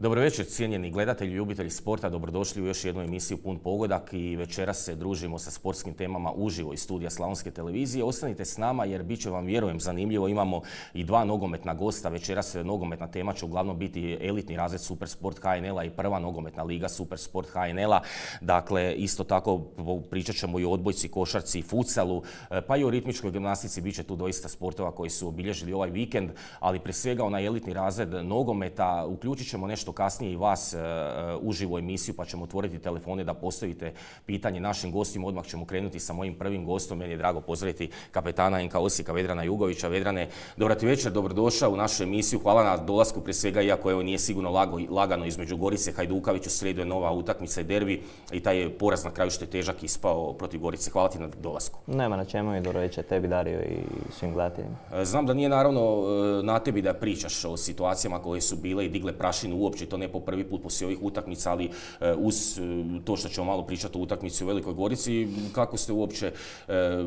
Dobro večer, cijenjeni gledatelji i ljubitelji sporta, dobrodošli u još jednu emisiju Pun pogodak i večeras se družimo sa sportskim temama uživo iz studija Slavonske televizije. Ostanite s nama jer bit će vam, vjerujem, zanimljivo. Imamo i dva nogometna gosta. Večeras nogometna tema će uglavnom biti elitni razred Supersport HNL-a i prva nogometna liga Supersport HNL-a. Dakle, isto tako pričat ćemo i o odbojci, košarci i futsalu, pa i o ritmičkoj gimnastici. Bit će tu doista sportova koji su obilježili ovaj vikend, ali prije svega onaj elitni razred nogometa. Uključit ćemo nešto kasnije i vas uživo emisiju, pa ćemo otvoriti telefone da postavite pitanje našim gostima. Odmah ćemo krenuti sa mojim prvim gostom. Meni je drago pozdraviti kapetana NK Osijeka Vedrana Jugovića. Vedrane, dobro ti večer, dobrodošao u našu emisiju. Hvala na dolasku prije svega, iako evo nije sigurno lagano između Gorice Hajduković. U srijedu je nova utakmica i derbi i taj je poraz na kraju što je težak ispao protiv Gorice. Hvala ti na dolasku. Nema na čemu i dobro večer tebi, Dario, i svim gledateljima. Znam da nije naravno na tebi da pričaš o situacijama koje su bile i digle prašinu uopće, to ne po prvi put poslije ovih utakmica, ali uz to što ćemo malo pričati o utakmici u Velikoj Gorici, kako ste uopće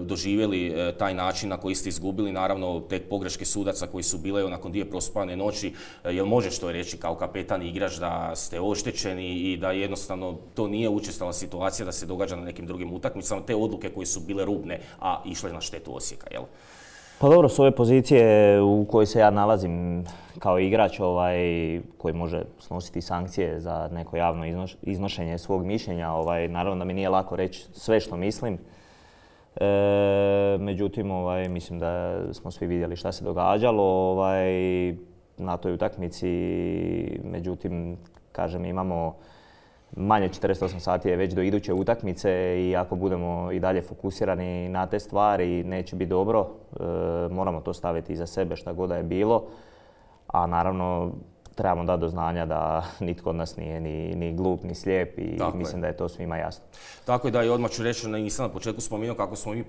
doživjeli taj način na koji ste izgubili, naravno tek pogreške sudaca koji su bile nakon dvije prospane noći. Jel možeš to reći kao kapetan i igrač da ste oštećeni i da jednostavno to nije učestala situacija da se događa na nekim drugim utakmicama, te odluke koje su bile rubne, a išle na štetu Osijeka, jel? Pa dobro, s ove pozicije u kojoj se ja nalazim kao igrač koji može snositi sankcije za neko javno iznošenje svog mišljenja, naravno da mi nije lako reći sve što mislim. Međutim, mislim da smo svi vidjeli šta se događalo na toj utakmici. Međutim, kažem, imamo manje 48 sati je već do iduće utakmice i ako budemo i dalje fokusirani na te stvari neće biti dobro. Moramo to staviti iza sebe šta god da je bilo, a naravno trebamo dati do znanja da nitko od nas nije ni glup ni slijep i mislim da je to svima jasno. Tako je, da, i odmah ću reći, nisam na početku spomenuo kako smo mi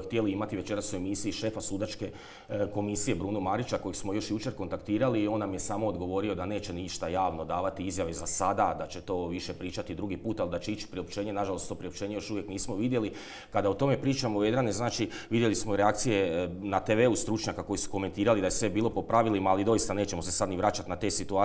htjeli imati večeras u emisiji šefa sudačke komisije Bruno Marića, kojeg smo još jučer kontaktirali, i on nam je samo odgovorio da neće ništa javno davati izjave za sada, da će to više pričati drugi put, ali da će ići priopćenje. Nažalost, to priopćenje još uvijek nismo vidjeli. Kada o tome pričamo, Vedrane, znači vidjeli smo reakcije na TV-u stručnjaka koji su komentirali da je sve bilo po pravilima, ali doista nećemo se sad ni vraćati na te situacije.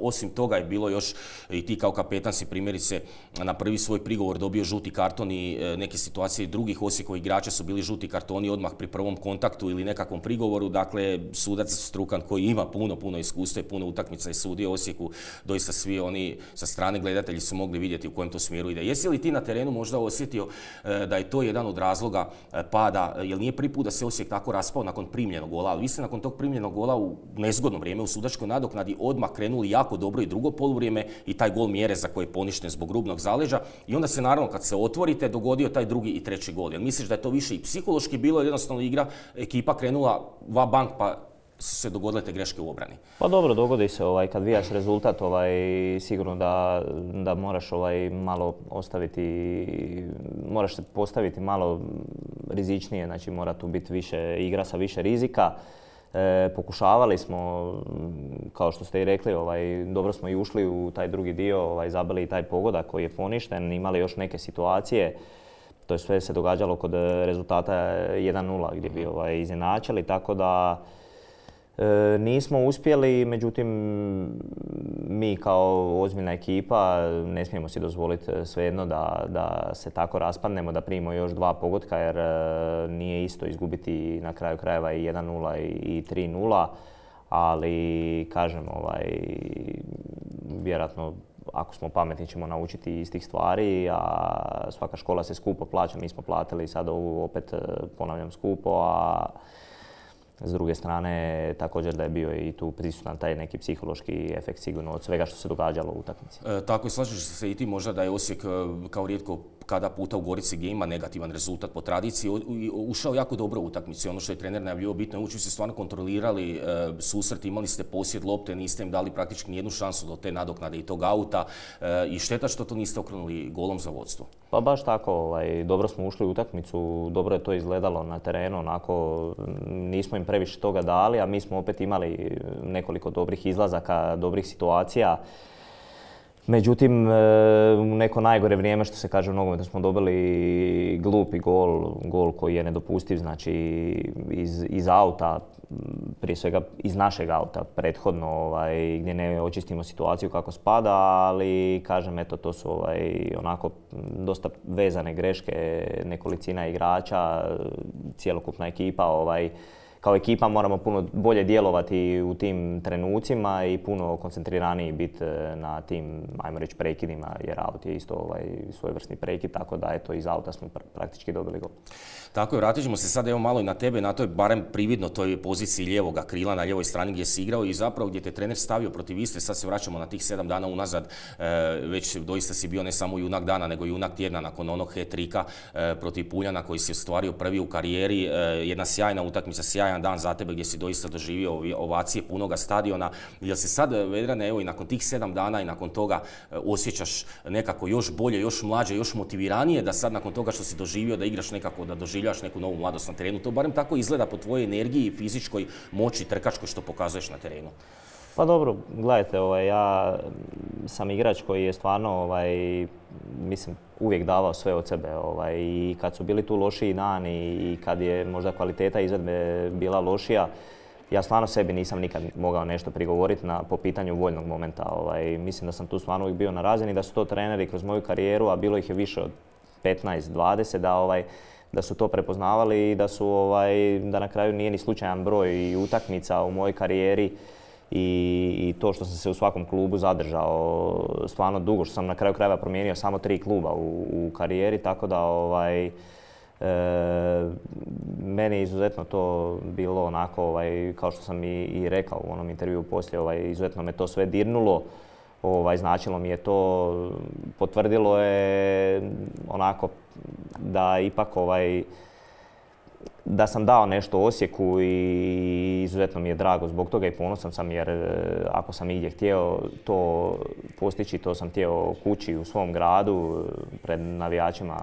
Osim toga je bilo još, i ti kao kapetan si primjerice na prvi svoj prigovor dobio žuti karton i neke situacije drugih Osijekovih igrača su bili žuti kartoni odmah pri prvom kontaktu ili nekakvom prigovoru. Dakle, sudac strukan koji ima puno iskustva i puno utakmica i sudio Osijeku, doista svi oni sa strane gledatelji su mogli vidjeti u kojem to smjeru ide. Jesi li ti na terenu možda osjetio da je to jedan od razloga pada, jer nije prvi put da se Osijek tako raspao nakon primljenog gola, ali vi ste nakon tog primljenog gola u nezgodno vrijeme u sudačkoj nadoknadi odmah krenuli jako dobro i drugo poluvrijeme i taj gol Mjereza koji je poništen zbog rubnog zaleđa, i onda se naravno kad se otvorite dogodio taj drugi i treći gol. Jel misliš da je to više i psihološki bilo, jednostavno ekipa krenula va bank pa su se dogodile te greške u obrani? Pa dobro, dogodi se kad vijaš rezultat, sigurno da moraš malo ostaviti, moraš se postaviti malo rizičnije, znači mora tu biti više igra sa više rizika. Pokušavali smo, kao što ste i rekli, dobro smo i ušli u taj drugi dio, zabili i taj pogodak koji je poništen, imali još neke situacije. To je sve se događalo kod rezultata 1:0 gdje bi izjednačili, tako da nismo uspjeli. Međutim, mi kao ozbiljna ekipa ne smijemo si dozvoliti svejedno da se tako raspadnemo, da primimo još dva pogotka, jer nije isto izgubiti na kraju krajeva i 1:0 i 3:0, ali kažem, vjerojatno ako smo pametni ćemo naučiti iz tih stvari, a svaka škola se skupo plaća, mi smo platili sad ovu opet, ponavljam, skupo, a s druge strane, također da je bio i tu prisutan taj neki psihološki efekt sigurno od svega što se događalo u utakmici. Tako je, slažeš se i ti možda da je Osijek kao rijetko kada puta u Gorici gdje ima negativan rezultat po tradiciji ušao jako dobro u utakmicu. Ono što je trener najavljivao, bitno je ući, ste stvarno kontrolirali susret, imali ste posjed lopte, niste im dali praktički nijednu šansu do te nadoknade i tog auta, i šteta što to niste okrenuli golom za vodstvo. Pa baš tako, dobro smo ušli u utakmicu, dobro je to izgledalo na terenu, onako nismo im previše toga dali, a mi smo opet imali nekoliko dobrih izlazaka, dobrih situacija. Međutim, u neko najgore vrijeme, što se kaže u nogometu, smo dobili glupi gol koji je nedopustiv, znači iz auta, prije svega iz našeg auta prethodno, gdje ne očistimo situaciju kako spada, ali kažem, eto, to su onako dosta vezane greške, nekolicina igrača, cjelokupna ekipa, kao ekipa moramo puno bolje djelovati u tim trenucima i puno koncentriraniji biti na tim, ajmo reći, prekidima, jer aut je isto svojevrsni prekid, tako da eto, iz auta smo praktički dobili gol. Tako je, vratit ćemo se sad evo malo i na tebe, na toj barem prividno toj poziciji lijevoga krila na lijevoj strani gdje si igrao i zapravo gdje te trener stavio protiv Istre. Sad se vraćamo na tih 7 dana unazad, već doista si bio ne samo junak dana nego junak tjedna nakon onog hat-tricka protiv Puljana koji si ostvario prvi u karijeri. Jedna sjajna utakmica, sjajan dan za tebe gdje si doista doživio ovacije punoga stadiona. Jel se sad, Vedrane, evo i nakon tih 7 dana i nakon toga osjećaš nekako još bolje, još mlađe, još motiviranije da sad nakon toga što si doživio da igraš nekako, da doživljaš neku novu mladost na terenu? To barem tako izgleda po tvojoj energiji, fizičkoj moći, trkačkoj što pokazuješ na terenu. Pa dobro, gledajte, ja sam igrač koji je stvarno, mislim, uvijek davao sve od sebe. I kad su bili tu lošiji dani i kad je možda kvaliteta izvedbe bila lošija, ja stvarno sebi nisam nikad mogao nešto prigovoriti po pitanju voljnog momenta. Mislim da sam tu stvarno uvijek bio na razini, da su to treneri kroz moju karijeru, a bilo ih je više od 15-20, da su to prepoznavali i da na kraju nije ni slučajan broj utakmica u mojoj karijeri i to što sam se u svakom klubu zadržao stvarno dugo, što sam na kraju krajeva promijenio samo 3 kluba u karijeri, tako da meni je izuzetno to bilo onako, kao što sam i rekao u onom intervjuu poslije, izuzetno me to sve dirnulo. Značilo mi je to, potvrdilo je onako da ipak da sam dao nešto Osijeku i izuzetno mi je drago zbog toga i ponosan sam, jer ako sam igdje htio to postići, to sam htio kući u svom gradu pred navijačima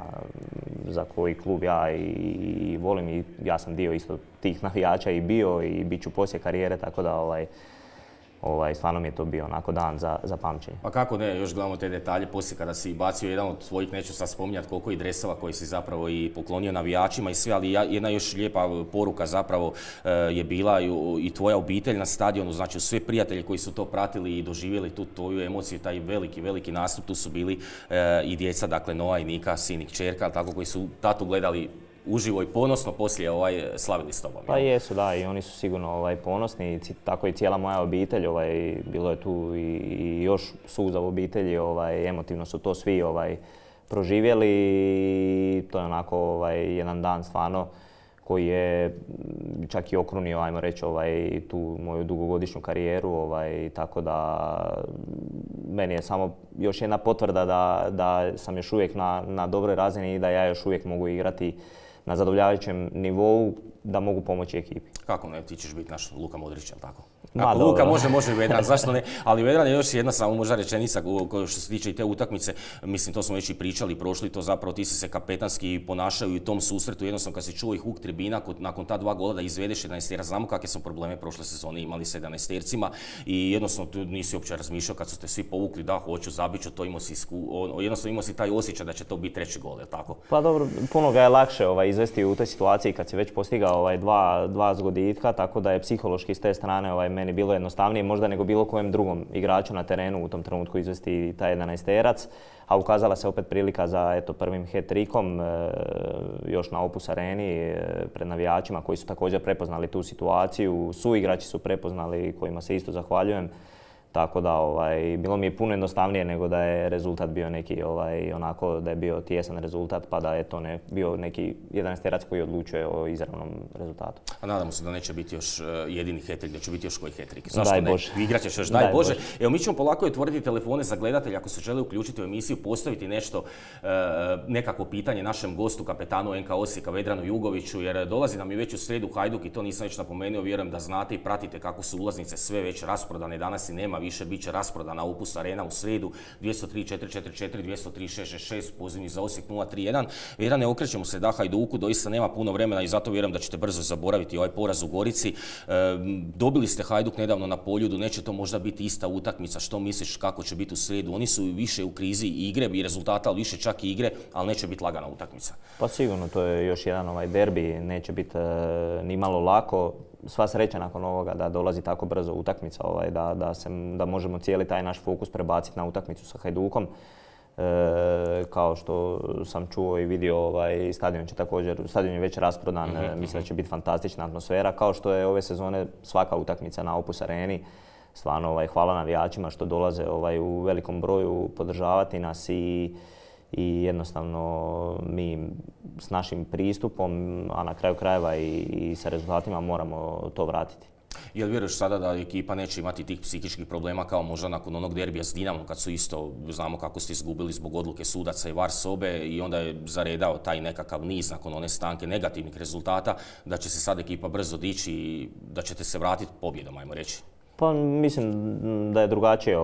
za koji klub ja i volim i ja sam dio isto tih navijača i bio i bit ću poslije karijere, tako da stvarno mi je to bio onako dan za pamćenje. Pa kako ne, još gledamo te detalje poslije kada si bacio jedan od svojih, neću sad spominjati koliko i dresova koji si zapravo i poklonio navijačima i sve, ali jedna još lijepa poruka zapravo je bila i tvoja obitelj na stadionu, znači sve prijatelji koji su to pratili i doživjeli tu tvoju emociju, taj veliki nastup, tu su bili i djeca, dakle Noa i Nika, sin i kćerka, tako koji su tatu gledali uživo i ponosno poslije slavili s tobom. Pa jesu, da, i oni su sigurno ponosni, tako i cijela moja obitelj, bilo je tu i još suza u obitelji, emotivno su to svi proživjeli i to je onako jedan dan stvarno koji je čak i okrunio, ajmo reći, tu moju dugogodišnju karijeru, tako da meni je samo još jedna potvrda da sam još uvijek na dobroj razini i da ja još uvijek mogu igrati na zadovoljavajućem nivou, da mogu pomoći ekipi. Kako ne, ti ćeš biti naš Luka Modrić, jel tako? Ako Luka može i Vedran, zašto ne? Ali Vedran je još jedna samo možda rečenica što se tiče i te utakmice, mislim to smo već i pričali, prošli to zapravo, ti si se kapetanski ponašao i u tom susretu, jednostavno kad si čuo i huk tribina, nakon ta 2 gola da izvedeš 11-tera, znamo kakve smo probleme prošle sezone imali sa 11-tercima i jednostavno tu nisi uopće razmišljao kad su te svi povukli, da hoću, zabit ću, to jednostavno imao si taj osjećaj da će to biti 3. gol, jel tako? Pa dobro, puno ga je lakše izvesti u toj situaciji kad si već postigao 2 zgoditka, tako da je psihološki s te strane meni bilo jednostavnije možda nego bilo kojem drugom igraču na terenu u tom trenutku izvesti taj 11-terac, a ukazala se opet prilika za prvim hat-trickom još na Opus Areni pred navijačima koji su također prepoznali tu situaciju, suigrači su prepoznali kojima se isto zahvaljujem. Tako da bilo mi je puno jednostavnije nego da je rezultat bio neki onako da je bio tijesan rezultat pa da je to bio neki 11-terac koji odlučuje o izravnom rezultatu. A nadamo se da neće biti još jedini hat-trick, da će biti još koji hat-trick. Daj Bože. Igrat ćeš još, daj Bože. Evo mi ćemo polako otvoriti telefone za gledatelje ako se žele uključiti u emisiju, postaviti nešto, nekakvo pitanje našem gostu, kapetanu NK Osijeka Vedranu Jugoviću, jer dolazi nam i već u srijedu Hajduk i to nisam već napomenuo, vjerujem da znate i pratite kako su ulaznice sve već rasprodane, danas i nema više, bit će rasprodana Opus Arena u srijedu 203-444, 203-666, pozivni za Osijek 031. Vedrane, okrećemo se da Hajduku, doista nema puno vremena i zato vjerujem da ćete brzo zaboraviti ovaj poraz u Gorici. Dobili ste Hajduk nedavno na Poljudu, neće to možda biti ista utakmica, što misliš kako će biti u srijedu? Oni su više u krizi igre i rezultata, ali više čak i igre, ali neće biti lagana utakmica. Pa sigurno, to je još jedan derbi, neće biti ni malo lako. Sva sreća nakon ovoga da dolazi tako brzo utakmica, da možemo cijeli taj naš fokus prebaciti na utakmicu sa Hajdukom. Kao što sam čuo i vidio, stadion je već rasprodan, mislim da će biti fantastična atmosfera, kao što je ove sezone svaka utakmica na Opus Areni. Stvarno hvala navijačima što dolaze u velikom broju podržavati nas i jednostavno mi s našim pristupom, a na kraju krajeva i sa rezultatima moramo to vratiti. Jel vjeruješ sada da ekipa neće imati tih psihičkih problema kao možda nakon onog derbija s Dinamom kad su isto, znamo kako ste izgubili zbog odluke sudaca i VAR sobe i onda je zaredao taj nekakav niz nakon one stanke negativnih rezultata, da će se sad ekipa brzo dići i da ćete se vratiti pobjedom, ajmo reći? Pa mislim da je drugačije,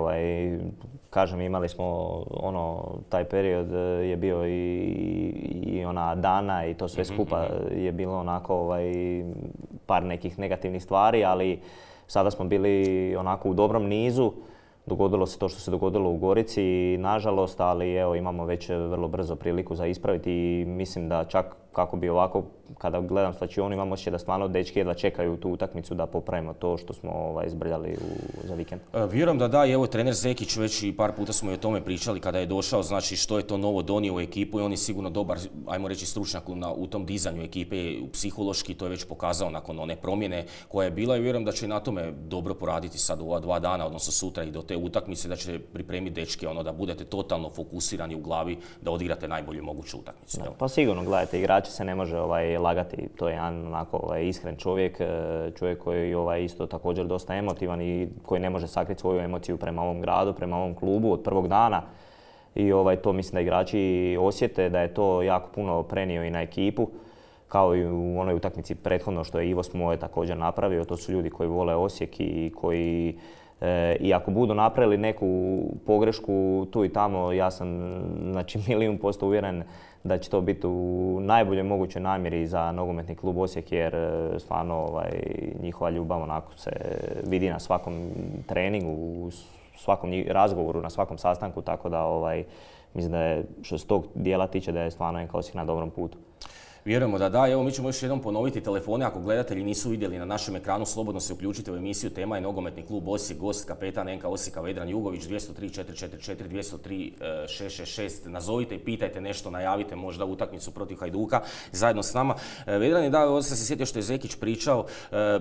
kažem, imali smo taj period je bio i ona dana i to sve skupa je bilo onako par nekih negativnih stvari, ali sada smo bili onako u dobrom nizu. Dogodilo se to što se dogodilo u Gorici, nažalost, ali evo imamo već vrlo brzo priliku za ispraviti i mislim da čak kako bi ovako, kada gledam slačionu, imamo osjećaj da stvarno dečki jedva čekaju tu utakmicu da popravimo to što smo izbrljali za vikend. Vjerujem da da, i evo trener Zekić, već i par puta smo i o tome pričali kada je došao, znači što je to novo donio u ekipu i on je sigurno dobar, ajmo reći, stručnjak u tom dizanju ekipe, psihološki, to je već pokazao nakon one promjene koja je bila i vjerujem da će i na tome dobro poraditi sad u ova 2 dana, odnosno sutra i do te utakmice, da će pripremiti dečke, da budete totalno fokusirani u glavi, da odigrate najbolju moguću utakmicu. Pa sigurno, gledajte, igrači se ne može lagati, to je jedan onako iskren čovjek koji je isto također dosta emotivan i koji ne može sakriti svoju emociju prema ovom gradu, prema ovom klubu od prvog dana. I to mislim da igrači osjete, da je to jako puno prenio i na ekipu, kao i u onoj utakmici prethodno što je Ivo Smoje također napravio. To su ljudi koji vole Osijek i koji i ako budu napravili neku pogrešku tu i tamo, ja sam $1,000,000% uvjeren da će to biti u najboljoj mogućoj namjeri za nogometni klub Osijek, jer stvarno njihova ljubav onako se vidi na svakom treningu, u svakom razgovoru, na svakom sastanku, tako da mislim da je, što se tog dijela tiče, da je stvarno NK Osijek na dobrom putu. Vjerujemo da da. Evo, mi ćemo još jednom ponoviti telefone. Ako gledatelji nisu vidjeli na našem ekranu, slobodno se uključite u emisiju. Tema je nogometni klub Osijek, gost kapetan NK Osijeka Vedran Jugović, 203-444, 203-666. Nazovite i pitajte nešto, najavite možda utakmicu protiv Hajduka zajedno s nama. Vedran je da, ovdje sam se sjetio što je Zekić pričao,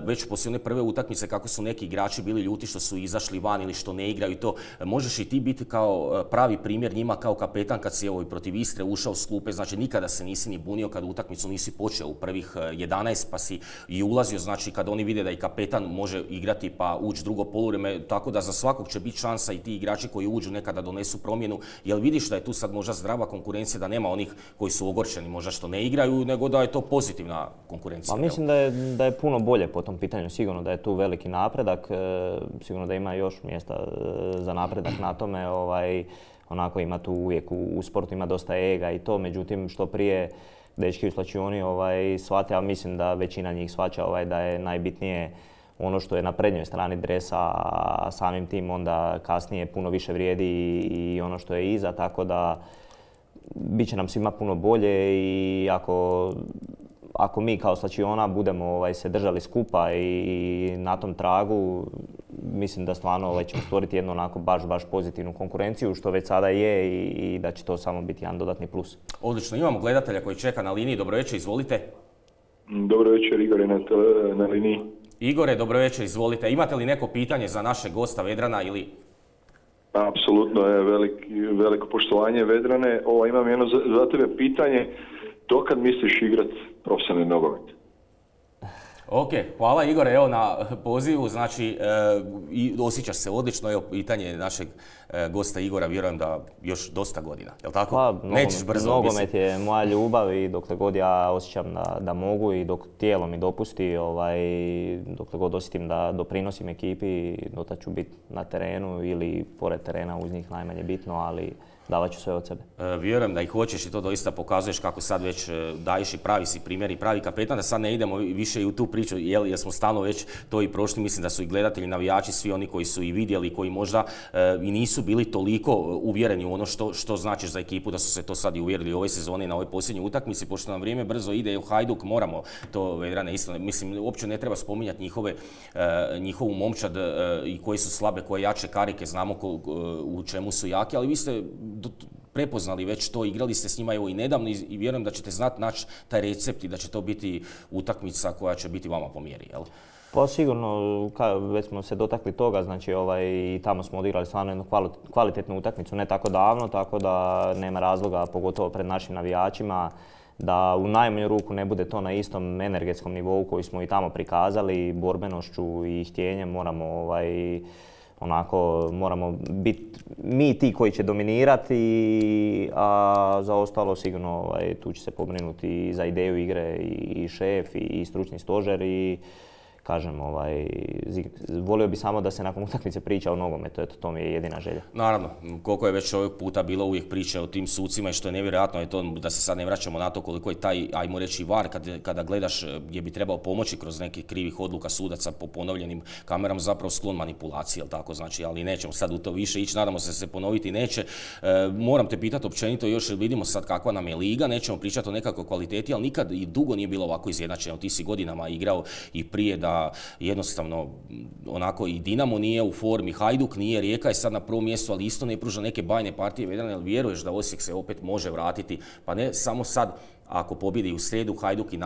već poslije one prve utakmice kako su neki igrači bili ljuti što su izašli van ili što ne igraju i to. Možeš i ti biti kao pravi primjer njima kao kapetan kad si i protiv Istre ušao s klupe, znači nikada se nisi ni bunio kad utakmicu nisi počeo u prvih 11 pa si i ulazio, znači kad oni vide da i kapetan može igrati pa ući drugo poluvrijeme, tako da za svakog će biti šansa i ti igrači koji uđu nekada donesu promjenu. Jel vidiš da je tu sad možda zdrava konkurencija, da nema onih koji su ogorčeni možda što ne igraju, nego da je to pozitivna konkurencija? Pa mislim da je puno bolje po tom pitanju, sigurno da je tu veliki napredak, sigurno da ima još mjesta za napredak na tome, onako ima tu uvijek u sportu ima dosta ega i to, međutim što prije dečki u slačioni shvate, a mislim da većina njih shvaća da je najbitnije ono što je na prednjoj strani dresa, a samim tim onda kasnije puno više vrijedi i ono što je iza, tako da bit će nam svima puno bolje i ako mi kao slačiona budemo se držali skupa i na tom tragu, mislim da stvarno ćemo stvoriti jednu onako baš pozitivnu konkurenciju, što već sada je i da će to samo biti jedan dodatni plus. Odlično, imamo gledatelja koji čeka na liniji. Dobro večer, izvolite. Dobro večer, Igor je na liniji. Igore, dobro večer, izvolite. Imate li neko pitanje za našeg gosta Vedrana ili... Apsolutno, veliko poštovanje Vedrane. Imam jedno za tebe pitanje. Dokad misliš igrati profesionalni nogomet? Ok, hvala Igore evo na pozivu, znači i osjećaš se odlično, evo pitanje našeg gosta Igora, vjerujem da još dosta godina, jel tako? Pa, Nećeš brzo. Nogomet je moja ljubav i dokle god ja osjećam da mogu i dok tijelo mi dopusti, dokle god osjetim da doprinosim ekipi, dotad ću biti na terenu ili pored terena, uz njih najmanje bitno, ali davat ću sve od sebe. Vjerujem da ih hoćeš i to doista pokazuješ kako sad već daješ i pravi si primjer i pravi kapetan, da sad ne idemo više i u tu priču jer smo stalno već to i prošli, mislim da su i gledatelji, navijači, svi oni koji su i vidjeli, koji možda i nisu bili toliko uvjereni u ono što značiš za ekipu, da su se to sad i uvjerili ove sezone na ovoj posljednjoj utakmici, pošto nam vrijeme brzo ide, u Hajduk moramo to, Vedrane, isto, mislim, uopće ne treba spominjati njihovu momčad i koji su slabe, koje jače karike, znamo u čemu su jaki, ali vi ste prepoznali već to, igrali ste s njima evo i nedavno i vjerujem da ćete znati naći taj recept i da će to biti utakmica koja će biti vama po mjeri, jel? Pa sigurno, već smo se dotakli toga, znači i tamo smo odigrali stvarno jednu kvalitetnu utakmicu ne tako davno, tako da nema razloga, pogotovo pred našim navijačima, da u najmanju ruku ne bude to na istom energetskom nivou koji smo i tamo prikazali, borbenošću i htjenjem moramo biti mi ti koji će dominirati, a za ostalo sigurno tu će se pobrinuti i za ideju igre i šef i stručni stožer i kažem, volio bi samo da se nakon utakmice priča o nogometu, eto, to mi je jedina želja. Naravno, koliko je već ovog puta bilo uvijek priče o tim sucima i što je nevjerojatno je to da se sad ne vraćamo na to koliko je taj, ajmo reći, VAR kada gledaš gdje bi trebao pomoći kroz nekih krivih odluka sudaca po ponovljenim kamerama, zapravo sklon manipulaciji, jel tako, znači, ali nećemo sad u to više ići, nadamo se ponoviti neće. Moram te pitati općenito još, vidimo sad kakva nam je liga, nećemo pričati o nekakvoj kvaliteti, ali nikad i dugo nije bilo ovako izjednačeno, ti si godinama igrao i prije da jednostavno onako i Dinamo nije u formi, Hajduk nije, Rijeka je sad na prvom mjestu, ali isto ne pruža neke bajne partije, Vedrane, ali vjeruješ da Osijek se opet može vratiti, pa ne samo sad ako pobjedi u srijedu Hajduk i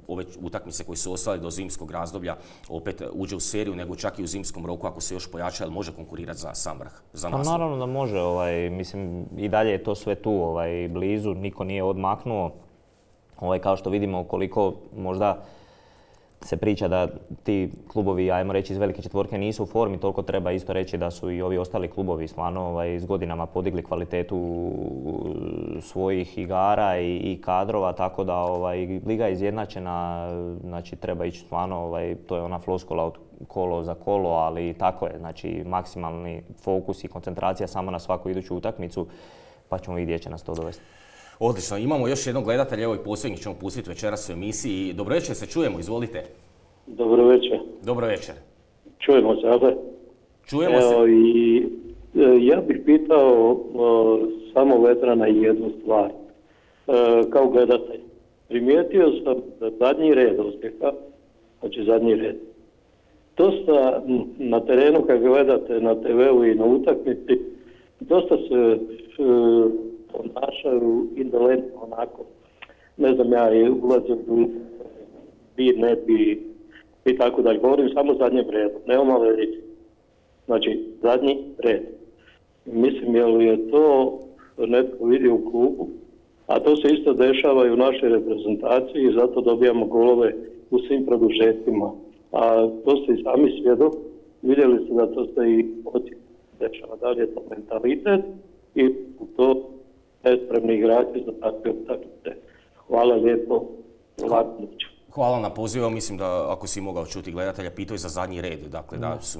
ove utakmice koje su ostale do zimskog razdoblja opet uđe u seriju, nego čak i u zimskom roku ako se još pojača, ali može konkurirati za sam vrh, za naslov. Pa naravno da može, mislim i dalje je to sve tu blizu, niko nije odmaknuo, kao što vidimo koliko možda se priča da ti klubovi, ajmo reći, iz velike četvorke nisu u formi, toliko treba isto reći da su i ovi ostali klubovi stvarno s godinama podigli kvalitetu svojih igara i kadrova, tako da liga je izjednačena, znači treba ići stvarno, to je ona floskula od kolo za kolo, ali tako je, znači maksimalni fokus i koncentracija samo na svaku iduću utakmicu, pa ćemo vidjeti gdje će nas to dovesti. Odlično, imamo još jednog gledatelja, evo i posljednjih ćemo pustiti večeras u emisiji. Dobro večer, se čujemo, izvolite. Dobro večer. Dobro večer. Čujemo se, ali? Čujemo se. Ja bih pitao samo Vedrana jednu stvar. Kao gledatelj, primijetio sam da zadnji red Osijeka, znači zadnji red, dosta na terenu kad gledate na TV-u i na utakmici, dosta se ponašaju indolentno onako, ne znam ja, ulazim u bi, ne bi i tako dalje. Govorim samo zadnjem redu, nemamo veliki. Znači, zadnji red. Mislim, je li je to netko vidio u klubu, a to se isto dešava i u našoj reprezentaciji i zato dobijamo golove u svim produžetima. A to ste i sami svjedok, vidjeli ste da to se i dešava. Da li je to mentalitet i to nespremni igrači za takve utakmice. Hvala lijepo. Hvala na pozivu, mislim da ako si mogao čuti gledatelja, pitao je za zadnji red, dakle da su,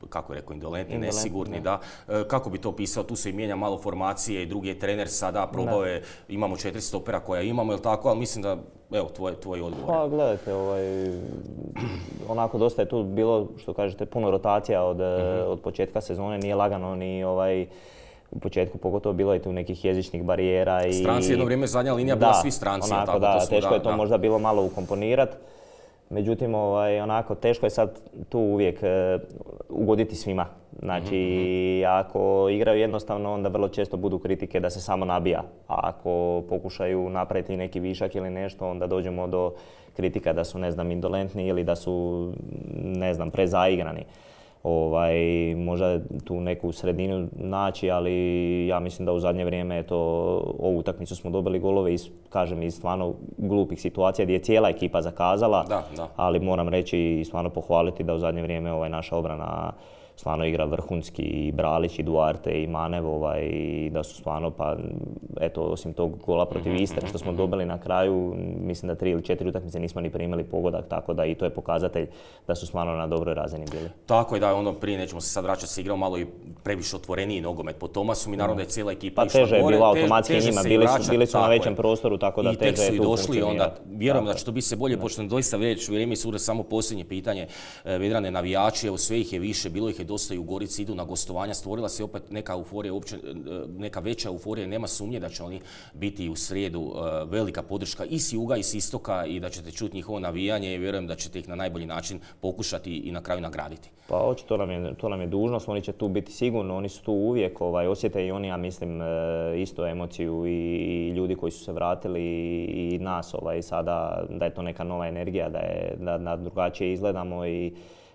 kako je rekao, indolentni, nesigurni, da. Kako bi to pisao, tu se i mijenja malo formacije, drugi je trener sada, probao je, imamo 4 stopera koja imamo, jel tako, ali mislim da, evo, tvoj odgovor. Pa gledajte, onako dosta je tu bilo, što kažete, puno rotacija od početka sezone, nije lagano ni u početku pogotovo bilo je tu nekih jezičnih barijera i... Stranci jedno vrijeme zadnja linija bila svi stranci. Onako, teško je to možda bilo malo ukomponirati. Međutim, onako, teško je sad tu uvijek ugoditi svima. Znači, ako igraju jednostavno, onda vrlo često budu kritike da se samo nabija. A ako pokušaju napraviti neki višak ili nešto, onda dođemo do kritika da su, ne znam, indolentni ili da su, ne znam, prezaigrani. možda tu neku sredinu naći, ali ja mislim da u zadnje vrijeme ovu utakmicu smo dobili golove iz stvarno glupih situacija gdje je cijela ekipa zakazala, ali moram reći i stvarno pohvaliti da u zadnje vrijeme naša obrana stvarno igra vrhunski, i Bralić, i Duarte, i Manev, i da su stvarno, pa eto, osim tog gola protiv Istre što smo dobili na kraju, mislim da 3 ili 4 utakmice nismo ni primili pogodak, tako da i to je pokazatelj da su stvarno na dobroj razini bili. Tako je, da, prije nećemo se sad vraćati, se igrao malo i previše otvoreniji nogomet po Tomasu, mi naravno da je cijela ekipa išla gore. Pa teže je bilo automatski njima, bili su na većem prostoru, tako da teže je tu funkcionirati. Vjerujem da će to biti se bolje, pošto doista vrijeme sura. Samo posljednje pitanje, Vedrane, navijači, evo sve ih je više, bilo ih je dosta i u Gorici, idu na gostovanja, stvorila se opet neka euforija, neka veća euforija, nema sumnje da će oni biti u srijedu velika podrška i s juga i s istoka i da ćete čuti njihovo navijanje i vjerujem da ćete ih na najbolji način pokušati i na kraju nagraditi. Pa očito to nam je dužnost, oni će tu biti sigurno, oni su tu uvijek, osjete i oni, ja mislim, isto emociju i ljudi koji su se vratili i nas sada, da je to neka nova energija, da drugačije izgledamo i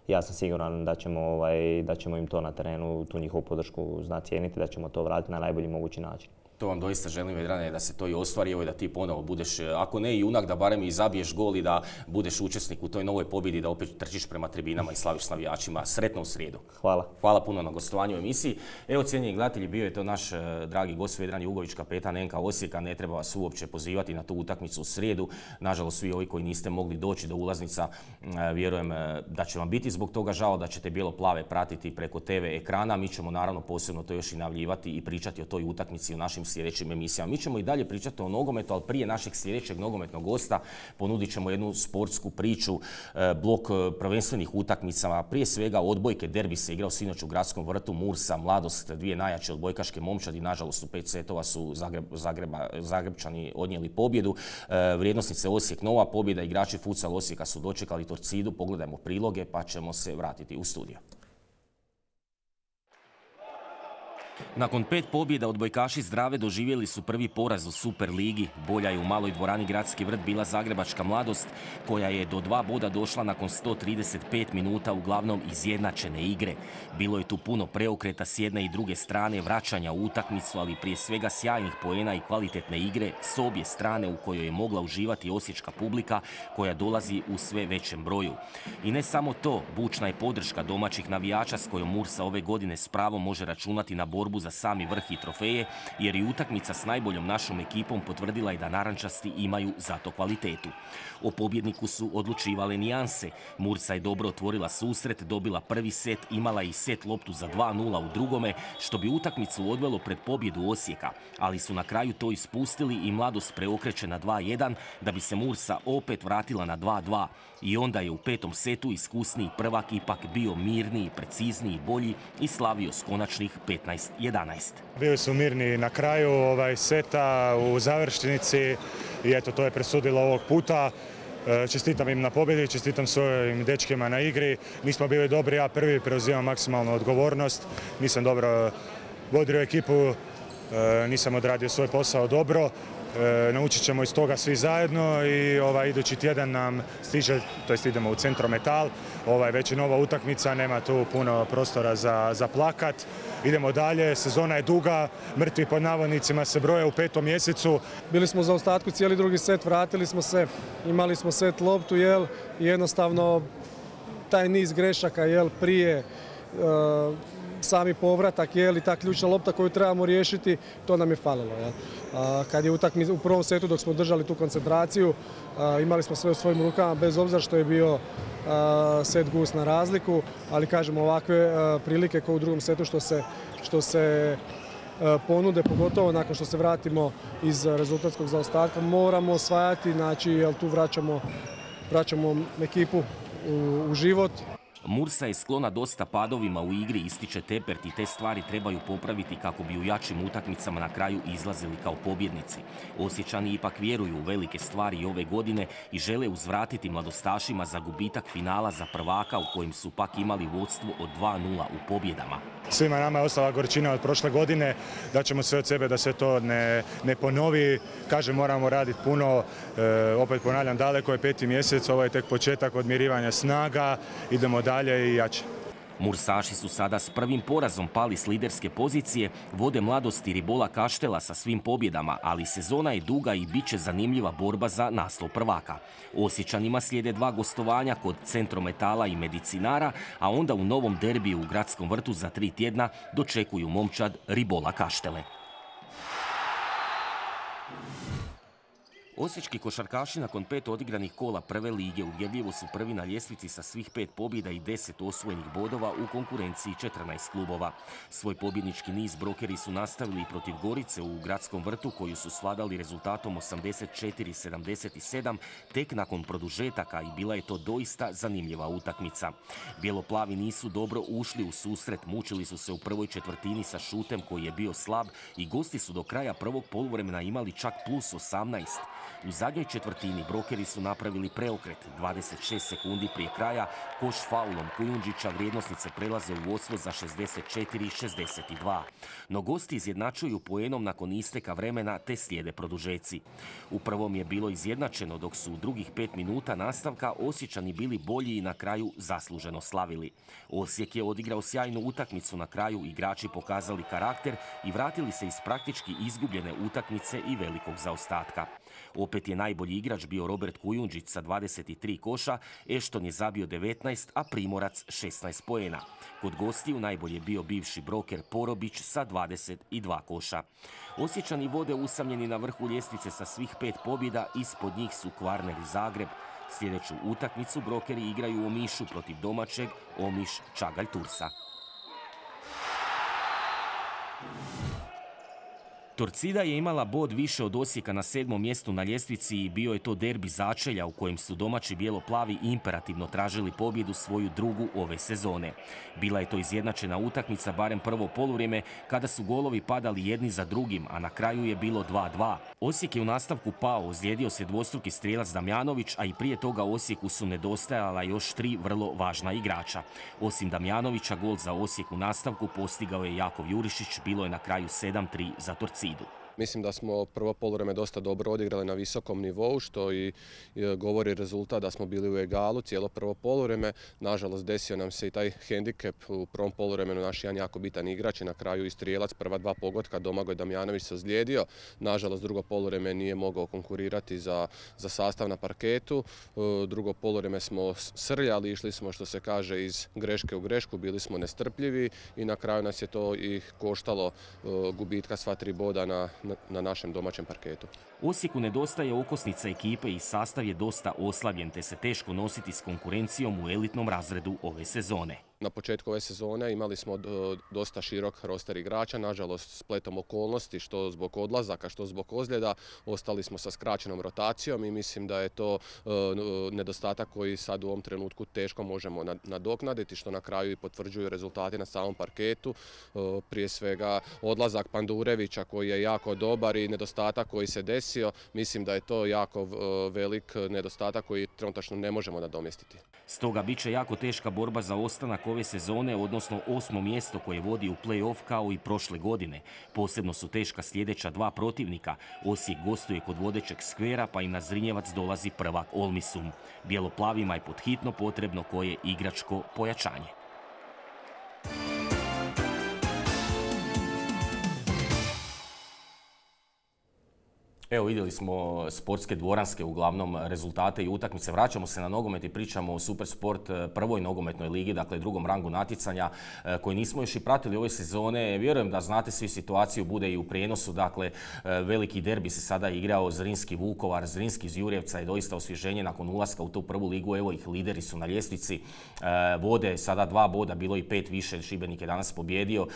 ja sam siguran da ćemo im to na terenu, tu njihovu podršku znati cijeniti, da ćemo to vratiti na najbolji mogući način. To vam doista želim, Vedrane, da se to i ostvari, da ti ponovo budeš, ako ne junak, da barem i zabiješ gol i da budeš učesnik u toj novoj pobjedi, da opet trčiš prema tribinama i slaviš s navijačima. Sretno u srijedu. Hvala. Hvala puno na gostovanju u emisiji. Evo, cijenjeni gledatelji, bio je to naš dragi gost Vedran Jugović, kapetan NK Osijeka. Ne treba vas uopće pozivati na tu utakmicu u srijedu. Nažalost, svi ovi koji niste mogli doći do ulaznica, vjerujem da će vam biti zbog toga žao, da ćete bijelo-plave pratiti preko TV ekrana. Mi ćemo naravno posebno to još i najavljivati i pričati o toj utakmici u našim sljedećim emisijama. Mi ćemo i dalje pričati o nogometu, ali prije našeg sljedećeg nogometnog gosta ponudit ćemo jednu sportsku priču, blok prvenstvenih utakmica, prije svega odbojke. Derbi se igrao sinoć u Gradskom vrtu, Mursa, Mladost, dvije najjače odbojkaške momčadi. Nažalost, u 5 setova su Zagrebčani odnijeli pobjedu. Vrijednosnice Osijek nova pobjeda, igrači futsal Osijeka su dočekali Torcidu. Pogledajmo priloge pa ćemo se vratiti u studio. Nakon 5 pobjeda odbojkaši Zdrave doživjeli su prvi poraz u Super ligi. Bolja je u maloj dvorani Gradski vrt bila Zagrebačka Mladost, koja je do 2 boda došla nakon 135 minuta uglavnom izjednačene igre. Bilo je tu puno preokreta s jedne i druge strane, vraćanja u utakmicu, ali prije svega sjajnih poena i kvalitetne igre s obje strane u kojoj je mogla uživati osječka publika koja dolazi u sve većem broju. I ne samo to, bučna je podrška domaćih navijača s kojom Mursa ove godine s pravom može računati na borbu za sami vrh i trofeje, jer i utakmica s najboljom našom ekipom potvrdila je da narančasti imaju zato kvalitetu. O pobjedniku su odlučivale nijanse. Mursa je dobro otvorila susret, dobila prvi set, imala i set loptu za 2:0 u drugome, što bi utakmicu odvelo pred pobjedu Osijeka, ali su na kraju to ispustili i Mladost preokreće na 2:1, da bi se Mursa opet vratila na 2:2. I onda je u 5. setu iskusniji prvak ipak bio mirniji, precizniji, bolji i slavio s konačnih 15-11. Bili su mirni na kraju seta u završnici i eto, to je presudilo ovog puta. Čestitam im na pobjedi, čestitam svojim dečkima na igri. Nismo bili dobri, ja prvi preuzimam maksimalnu odgovornost. Nisam dobro vodio ekipu, nisam odradio svoj posao dobro. Naučit ćemo iz toga svi zajedno i idući tjedan nam stiže, to jest idemo u Centrometal, već je nova utakmica, nema tu puno prostora za plakat. Idemo dalje, sezona je duga, mrtvi pod navodnicima se broje u 5. mjesecu. Bili smo u zaostatku cijeli drugi set, vratili smo se, imali smo set loptu, i jednostavno taj niz grešaka prije sami povratak i ta ključna lopta koju trebamo riješiti, to nam je falilo. Kad je u prvom setu dok smo držali tu koncentraciju, imali smo sve u svojim rukama, bez obzira što je bio set gust na razliku, ali kažemo ovakve prilike kao u drugom setu što se ponude, pogotovo nakon što se vratimo iz rezultatskog zaostatka, moramo osvajati, znači jer tu vraćamo ekipu u život. Mursa je sklona dosta padovima u igri, ističe Tepert, i te stvari trebaju popraviti kako bi u jačim utakmicama na kraju izlazili kao pobjednici. Osječani ipak vjeruju u velike stvari ove godine i žele uzvratiti mladostašima za gubitak finala za prvaka u kojem su pak imali vodstvo od 2:0 u pobjedama. Svima nama je ostala gorčina od prošle godine, da ćemo sve od sebe da se to ne ponovi. Kažem, moramo raditi puno, opet ponavljam, daleko je 5. mjesec, ovo je tek početak odmirivanja snaga, idemo dalje i jače. Mursaši su sada s prvim porazom pali s liderske pozicije, vode mladosti Ribola Kaštela sa svim pobjedama, ali sezona je duga i bit će zanimljiva borba za naslov prvaka. Osječanima slijede 2 gostovanja kod Centrometala i Medicinara, a onda u novom derbiju u Gradskom vrtu za 3 tjedna dočekuju momčad Ribola Kaštele. Osječki košarkaši nakon 5 odigranih kola prve lige uvjerljivo su prvi na ljestvici sa svih 5 pobjeda i 10 osvojenih bodova u konkurenciji 14 klubova. Svoj pobjednički niz brokeri su nastavili i protiv Gorice u Gradskom vrtu, koju su svladali rezultatom 84-77 tek nakon produžetaka i bila je to doista zanimljiva utakmica. Bijeloplavi nisu dobro ušli u susret, mučili su se u prvoj četvrtini sa šutem koji je bio slab i gosti su do kraja prvog poluvremena imali čak plus 18. U zadnjoj četvrtini brokeri su napravili preokret. 26 sekundi prije kraja koš faulom Kujundžića vrijednosnice prelaze u vodstvo za 64-62. No gosti izjednačuju poenom nakon isteka vremena te slijede produžeci. U prvom je bilo izjednačeno, dok su u drugih 5 minuta nastavka Osječani bili bolji i na kraju zasluženo slavili. Osijek je odigrao sjajnu utakmicu, na kraju igrači pokazali karakter i vratili se iz praktički izgubljene utakmice i velikog zaostatka. Opet je najbolji igrač bio Robert Kujundžić sa 23 koša, Ešton je zabio 19, a Primorac 16 poena. Kod gostiju najbolje bio bivši broker Porobić sa 22 koša. Osječani vode usamljeni na vrhu ljestvice sa svih 5 pobjeda, ispod njih su Kvarner i Zagreb. Sljedeću utakmicu brokeri igraju u Omišu protiv domaćeg Omiš Čagalj Tursa. Torcida je imala bod više od Osijeka na 7. mjestu na ljestvici i bio je to derbi začelja u kojem su domaći bijeloplavi imperativno tražili pobjedu, svoju drugu ove sezone. Bila je to izjednačena utakmica, barem prvo poluvrijeme, kada su golovi padali jedni za drugim, a na kraju je bilo 2-2. Osijek je u nastavku pao, ozlijedio se dvostruki strijelac Damjanović, a i prije toga Osijeku su nedostajala još 3 vrlo važna igrača. Osim Damjanovića, gol za Osijek u nastavku postigao je Jakov Jurišić, bilo je na kraju 7-3 za Torcidu. Mislim da smo prvo poluvreme dosta dobro odigrali na visokom nivou, što i govori rezultat da smo bili u egalu cijelo prvo poluvreme. Nažalost, desio nam se i taj hendikep u prvom poluvremenu, naš jedan jako bitan igrač i na kraju i strijelac, prva 2 pogotka, Domagoj Damjanović se ozlijedio. Nažalost, drugo poluvreme nije mogao konkurirati za sastav na parketu. Drugo poluvreme smo srljali, išli smo, što se kaže, iz greške u grešku, bili smo nestrpljivi i na kraju nas je to i koštalo gubitka sva 3 boda na našem domaćem parketu. Osijeku nedostaje okosnica ekipe i sastav je dosta oslabljen, te se teško nositi s konkurencijom u elitnom razredu ove sezone. Na početku ove sezone imali smo dosta širok roster igrača, nažalost spletom okolnosti, što zbog odlazaka, što zbog ozljeda, ostali smo sa skraćenom rotacijom i mislim da je to nedostatak koji sad u ovom trenutku teško možemo nadoknaditi, što na kraju i potvrđuju rezultati na samom parketu. Prije svega odlazak Pandurevića koji je jako dobar i nedostatak koji se desio, mislim da je to jako velik nedostatak koji trenutačno ne možemo nadomjestiti. Stoga bit će jako teška borba za ostanak ove sezone, odnosno 8. mjesto koje vodi u play-off kao i prošle godine. Posebno su teška sljedeća 2 protivnika. Osijek gostuje kod vodećeg Skvera, pa im na Zrinjevac dolazi prvak Olmisum. Bijeloplavima je podhitno potrebno koje igračko pojačanje. Evo, vidjeli smo sportske dvoranske uglavnom rezultate i utakmice. Vraćamo se na nogomet i pričamo o Supersport prvoj nogometnoj ligi, dakle drugom rangu natjecanja koji nismo još i pratili ove sezone. Vjerujem da znate svi situaciju, bude i u prijenosu. Dakle, veliki derbi se sada igrao, Zrinski Vukovar, Zrinski iz Jurjevca je doista osvježenje nakon ulaska u tu prvu ligu. Evo ih, lideri su na ljestvici, vode sada 2 boda, bilo i 5 više, Šibenik je danas pobjedio.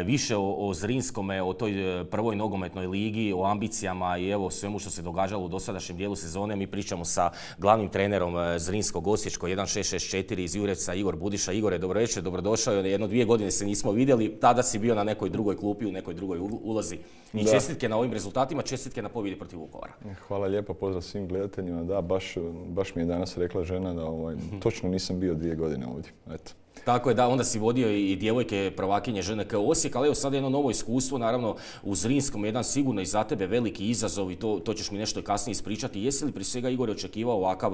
Više o Zrinskome, o toj prvoj nogometnoj ligi, o ambicijama i evo svemu što se događalo u dosadašnjem dijelu sezone. Mi pričamo sa glavnim trenerom Zrinskog Osječko 1664 iz Jurjevca, Igor Budiša. Igore, dobro večer, dobrodošao. 1-2 godine se nismo vidjeli, tada si bio na nekoj drugoj klupi, u nekoj drugoj ulozi. I čestitke na ovim rezultatima, čestitke na pobjedi protiv Vukovara. Hvala lijepo, pozdrav svim gledateljima. Da, baš mi je danas rekla žena da točno nisam bio 2 godine ovdje. Eto. Tako je, da, onda si vodio i djevojke prvakinje ŽNK Osijek, ali evo sad jedno novo iskustvo, naravno u Zrinskom, jedan sigurno i za tebe veliki izazov i to ćeš mi nešto kasnije ispričati. Jesi li prije svega, Igor, očekivao ovakav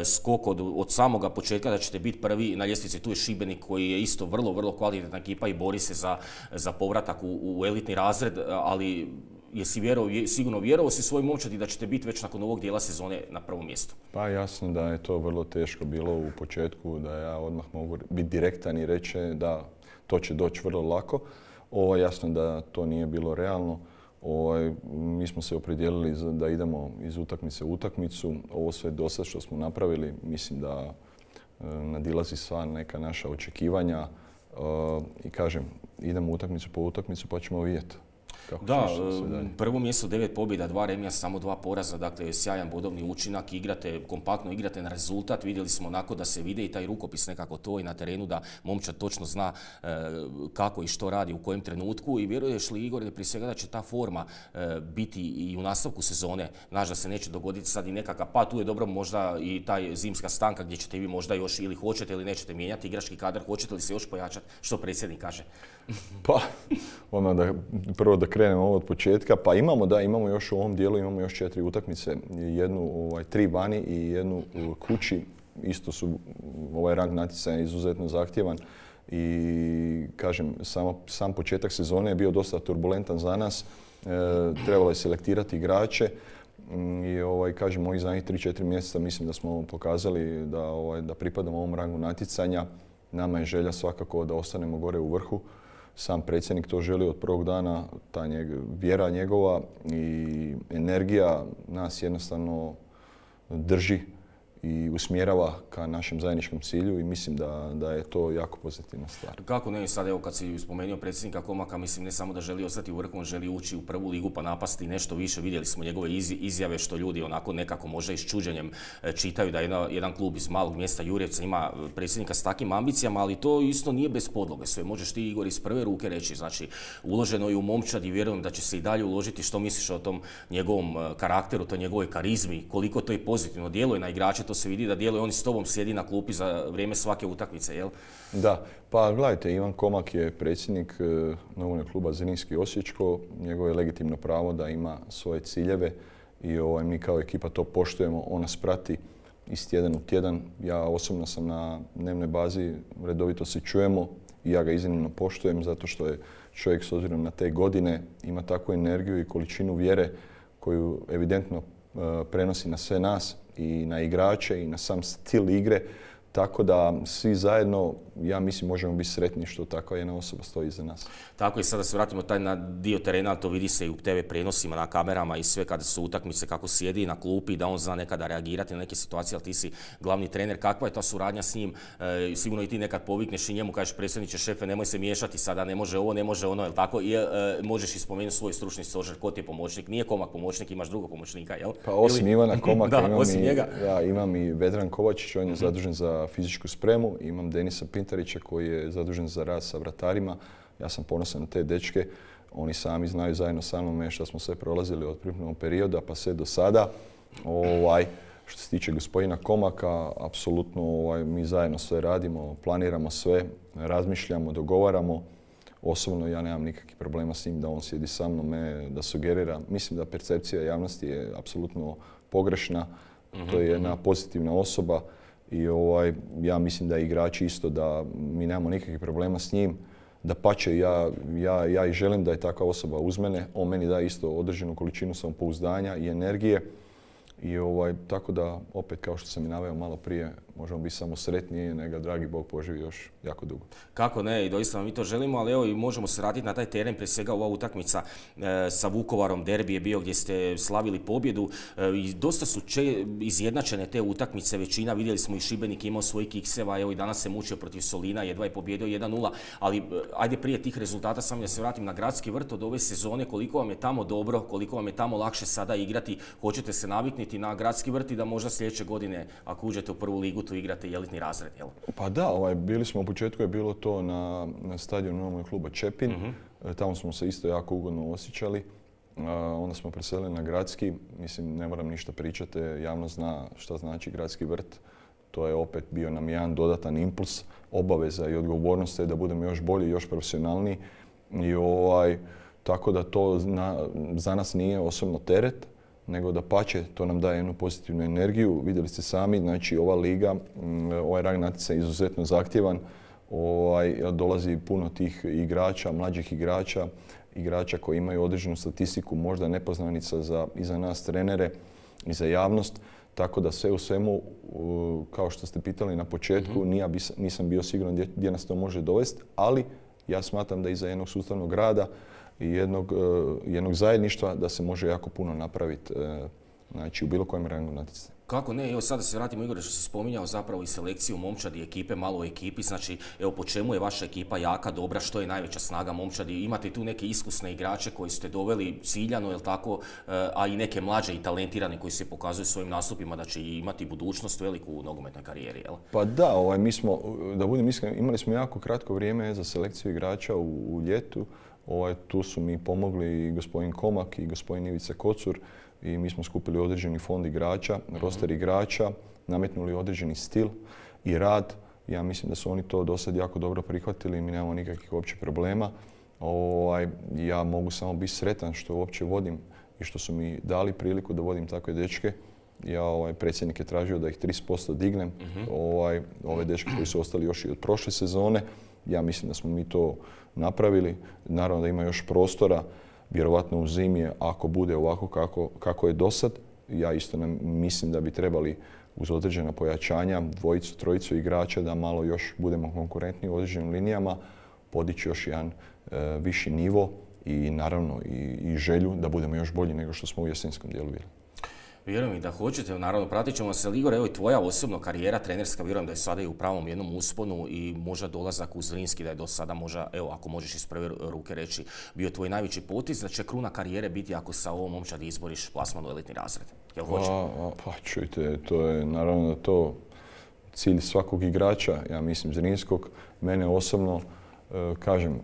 skok od samoga početka da ćete biti prvi na ljestvici? Tu je Šibenik koji je isto vrlo, vrlo kvalitetna ekipa i bori se za povratak u elitni razred, ali jesi sigurno vjerovao si svoj momčadi da ćete biti već nakon ovog dijela sezone na prvom mjestu? Pa jasno da je to vrlo teško bilo u početku, da ja odmah mogu biti direktan i reći da to će doći vrlo lako. Jasno da to nije bilo realno. Mi smo se opredijelili da idemo iz utakmice u utakmicu. Ovo sve do sad što smo napravili, mislim da nadilazi sva neka naša očekivanja. I kažem, idemo utakmicu po utakmicu pa ćemo vidjeti. Da, prvo mjesto 9 pobjeda, 2 remija, samo 2 poraza, dakle sjajan bodovni učinak, kompaktno igrate na rezultat, vidjeli smo onako da se vide i taj rukopis nekako to i na terenu da momčad točno zna kako i što radi u kojem trenutku i vjeruješ li, Igor, prije svega da će ta forma biti i u nastavku sezone, znaš da se neće dogoditi sad i nekakav, pa tu je dobro možda i taj zimska stanka gdje ćete vi možda još ili hoćete ili nećete mijenjati igrački kadar, hoćete li se još pojačati, što predsjednik kaže? Pa, prvo da krenemo ovo od početka, pa imamo još u ovom dijelu, imamo još 4 utakmice, jednu 3 vani i jednu u kući. Isto su ovaj rang natjecanja izuzetno zahtjevan i kažem, sam početak sezone je bio dosta turbulentan za nas. Trebalo je selektirati igrače i kažem, ovih zadnjih 3-4 mjeseca mislim da smo pokazali da pripadamo ovom rangu natjecanja. Nama je želja svakako da ostanemo gore u vrhu. Sam predsjednik to želi od prvog dana, ta vjera njegova i energija nas jednostavno drži i usmjerava ka našem zajedničkom cilju i mislim da je to jako pozitivna stvar. Kako ne, sad evo kad si spomenuo predsjednika Komaka, mislim ne samo da želi ostati u vrhu, on želi ući u prvu ligu pa napasti nešto više. Vidjeli smo njegove izjave što ljudi onako nekako možda i s čuđenjem čitaju da jedan klub iz malog mjesta Jurjevca ima predsjednika s takvim ambicijama, ali to isto nije bez podloge. Sve možeš ti, Igor, iz prve ruke reći. Znači, uloženo je u momčad i vjerujem da će se i dalje uložiti. Što misliš o tom njegovom karakteru, toj njegovoj karizmi, koliko to i pozitivno djeluje na igrače, to se vidi da djeluje, on s tobom sjedi na klupi za vrijeme svake utakmice, jel? Da, pa gledajte, Ivan Komak je predsjednik nogometnog kluba Zrinski Osječko, njegovo je legitimno pravo da ima svoje ciljeve i mi kao ekipa to poštujemo, on nas prati iz tjedan u tjedan. Ja osobno sam na dnevnoj bazi, redovito se čujemo i ja ga iznimno poštujem zato što je čovjek s obzirom na te godine ima takvu energiju i količinu vjere koju evidentno prenosi na sve nas i na igrače i na sam stil igre. Tako da svi zajedno, ja mislim, možemo biti sretni što takva jedna osoba stoji iza nas. Tako i sada se vratimo na dio terena, to vidi se i u TV prenosima, na kamerama i sve kada su utakmice, kako sjedi na klupi, da on zna nekada reagirati na neke situacije, ali ti si glavni trener. Kakva je ta suradnja s njim? Sigurno i ti nekad povikneš i njemu, kažeš predsjedniče, šefe, nemoj se miješati sada, ne može ovo, ne može ono, jel tako? I možeš i spomenuti svoj stručni stožer, ko ti je pomoćnik? Nije Komak pomoćnik, imaš drugog pomoćnika, jel? Pa osim Ivana Komaka imam i Vedran Kovačić, on je zadužen za fizičku spremu, imam Denisa Pintarića koji je zadužen za rad sa vratarima. Ja sam ponosan na te dečke, oni sami znaju zajedno sa mnom što smo sve prolazili od pripremnog perioda pa sve do sada. Što se tiče gospodina Komaka, apsolutno mi zajedno sve radimo, planiramo sve, razmišljamo, dogovaramo. Osobno ja nemam nikakvih problema s njim da on sjedi sa mnom, da sugerira. Mislim da percepcija javnosti je apsolutno pogrešna. To je jedna pozitivna osoba. I ja mislim da igrači isto, da mi nemamo nikakvih problema s njim. Dapače, ja i želim da je takva osoba uz mene. On meni da isto određenu količinu samopouzdanja i energije. I tako da, opet kao što sam i naveo malo prije, možemo biti samo sretniji, nego dragi Bog poživi još jako dugo. Kako ne, i doista mi to želimo, ali evo i možemo se vratiti na taj teren, prije svega ova utakmica sa Vukovarom, derbi je bio gdje ste slavili pobjedu i dosta su izjednačene te utakmice, većina, vidjeli smo i Šibenik imao svojih kikseva, evo i danas se mučio protiv Solina, jedva je pobjedio 1-0, ali ajde prije tih rezultata samo da se vratim na Gradski vrt od ove sezone, koliko vam je tamo dobro, koliko vam je tamo lakše sada igrati, hoćete se naviknuti na Gradski vrt i da možda sljedeće godine, ako uđete u prvu ligu, tu igrate i elitni razred, jel? Pa da, bili smo u početku, je bilo to na stadionu nogometnog kluba Čepin. Tamo smo se isto jako ugodno osjećali. Onda smo preselili na Gradski. Mislim, ne moram ništa pričati, javnost zna šta znači Gradski vrt. to je opet bio nam jedan dodatan impuls, obaveza i odgovornost je da budemo još bolji, još profesionalniji. I tako da to za nas nije osobno teret, nego da pače, to nam daje jednu pozitivnu energiju. Vidjeli ste sami, znači ova liga, ovaj rang natjecanja je izuzetno zahtjevan. Dolazi puno tih igrača, mlađih igrača koji imaju određenu statistiku, možda nepoznanica i za nas trenere i za javnost. Tako da sve u svemu, kao što ste pitali na početku, nisam bio siguran gdje nas to može dovesti, ali ja smatram da iza jednog sustavnog rada i jednog zajedništva da se može jako puno napraviti, znači u bilo kojem rangu natjecanju. Kako ne, evo sada se vratimo, Igore, što se spominjao zapravo i selekciju momčadi ekipe, malo o ekipi, znači evo po čemu je vaša ekipa jaka, dobra, što je najveća snaga momčadi, imate tu neke iskusne igrače koji ste doveli ciljano, jel tako, a i neke mlađe i talentirane koji se pokazuju svojim nastupima da će imati budućnost veliku u nogometnoj karijeri, jel? Pa da, mi smo, da budem iskren, imali smo jako kratko vrijeme za selekciju igrača u ljetu, tu su mi pomogli i gospodin Komak i gospodin Ivica Kocur, i mi smo skupili određeni fond igrača, roster igrača, nametnuli određeni stil i rad. Ja mislim da su oni to do sad jako dobro prihvatili i mi nemamo nikakvih uopće problema. Ja mogu samo biti sretan što uopće vodim i što su mi dali priliku da vodim takve dečke. Predsjednik je tražio da ih 30% dignem. Ove dečke koji su ostali još i od prošle sezone. Ja mislim da smo mi to napravili. Naravno da ima još prostora. Vjerovatno u zimi, ako bude ovako kako je do sad, ja isto mislim da bi trebali uz određena pojačanja, dvojicu, trojicu igrača da malo još budemo konkurentni u određenim linijama, podići još jedan viši nivo i naravno i želju da budemo još bolji nego što smo u jesenskom dijelu bili. Vjerujem i da hoćete, naravno pratit ćemo se. Igor, evo i tvoja osobna karijera trenerska, vjerujem da je sada i u pravom jednom usponu i možda dolazak u Zrinski, da je do sada možda, evo ako možeš iz prve ruke reći, bio tvoj najveći potez, da će kruna karijere biti ako sa ovom momčadi izboriš plasman u elitni razred. Jel hoće? Pa čujte, to je naravno to cilj svakog igrača, ja mislim Zrinskog. Mene osobno, kažem,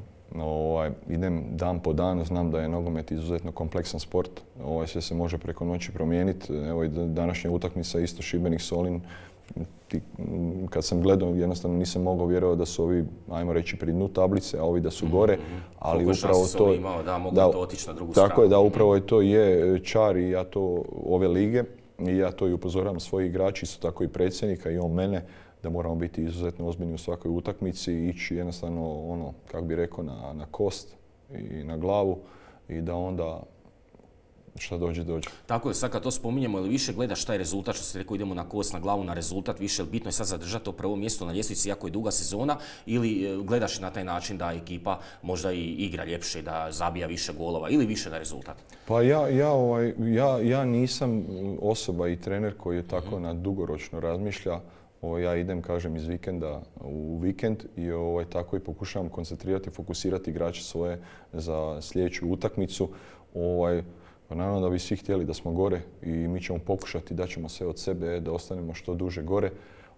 idem dan po dan, znam da je nogomet izuzetno kompleksan sport, sve se može preko noći promijeniti. Evo i današnja utakmica isto Šibenik-Solin, kad sam gledao jednostavno nisam mogao vjerovati da su ovi, ajmo reći, pri dnu tablice, a ovi da su gore, ali upravo to... mogu to otići na drugu stranu. Tako je, da, upravo to je čar i ja to ove lige i ja to i upozoravam svoji igrači, isto tako i predsjednika i on mene, da moramo biti izuzetno ozbiljni u svakoj utakmici, ići jednostavno, kako bi rekao, na kost i na glavu i da onda šta dođe. Tako je, sad kad to spominjemo, ili više gledaš taj rezultat, što ste rekao, idemo na kost, na glavu, na rezultat, više bitno je sad zadržati to prvo mjesto na ljestvici, jako je duga sezona, ili gledaš na taj način da ekipa možda i igra ljepše, da zabija više golova ili više na rezultat? Pa ja nisam osoba i trener koji je tako na dugoročno razmišlja. Ja idem, kažem, iz vikenda u vikend i tako i pokušavam koncentrirati, fokusirati igrače svoje za sljedeću utakmicu. Naravno da bi svi htjeli da smo gore i mi ćemo pokušati, da ćemo sve od sebe da ostanemo što duže gore,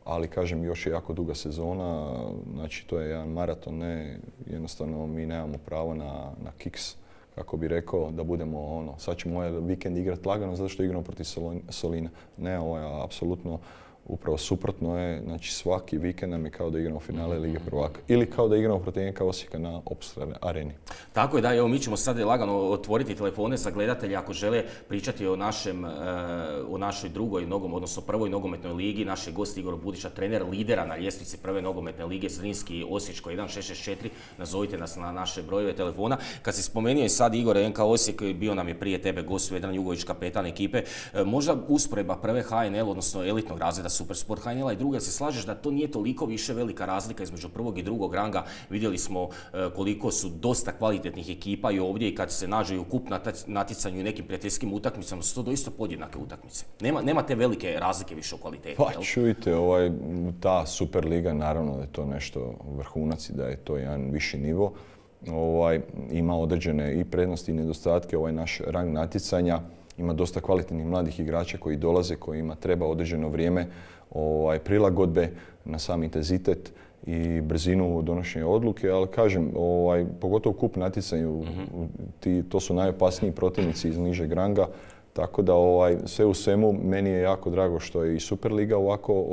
ali kažem, još je jako duga sezona, znači to je jedan maraton, ne, jednostavno mi nemamo pravo na kiks, kako bi rekao, da budemo sad ćemo ovaj vikend igrati lagano zato što igramo protiv Solina. Ne, apsolutno upravo suprotno je, znači svaki vikend nam je kao da igramo finale Lige prvaka ili kao da igramo protiv NK Osijeka na Opus areni. Tako je, da, evo mi ćemo sad lagano otvoriti telefone za gledatelje ako žele pričati o našoj drugoj odnosno prvoj nogometnoj ligi. Naš je gost Igor Budiša, trener lidera na ljestvici prve nogometne lige Zrinski Osječko 1664. Nazovite nas na naše brojeve telefona. Kad si spomenuo i sad Igor NK Osijek, bio nam je prije tebe gost Vedran Jugović, kapetan ekipe. Možda usporedba prve HNL, odnosno elitnog razreda Supersport HNL-a i druga, se slažeš da to nije toliko više velika razlika između prvog i drugog ranga. Vidjeli smo koliko su dosta kvalitetnih ekipa i ovdje i kad se nađu u kup natjecanju i nekim prijateljskim utakmicama su to doista podjednake utakmice. Nema te velike razlike više u kvaliteti. Pa čujte, ta Superliga, naravno da je to nešto vrhunac i da je to jedan viši nivo. Ima određene i prednosti i nedostatke, naš rang natjecanja. Ima dosta kvalitetnih mladih igrača koji dolaze, kojima treba određeno vrijeme prilagodbe na sam intenzitet i brzinu donošenja odluke, ali kažem, pogotovo u kup natjecanju, to su najopasniji protivnici iz nižeg ranga, Tako da sve u svemu meni je jako drago što je i Superliga ovako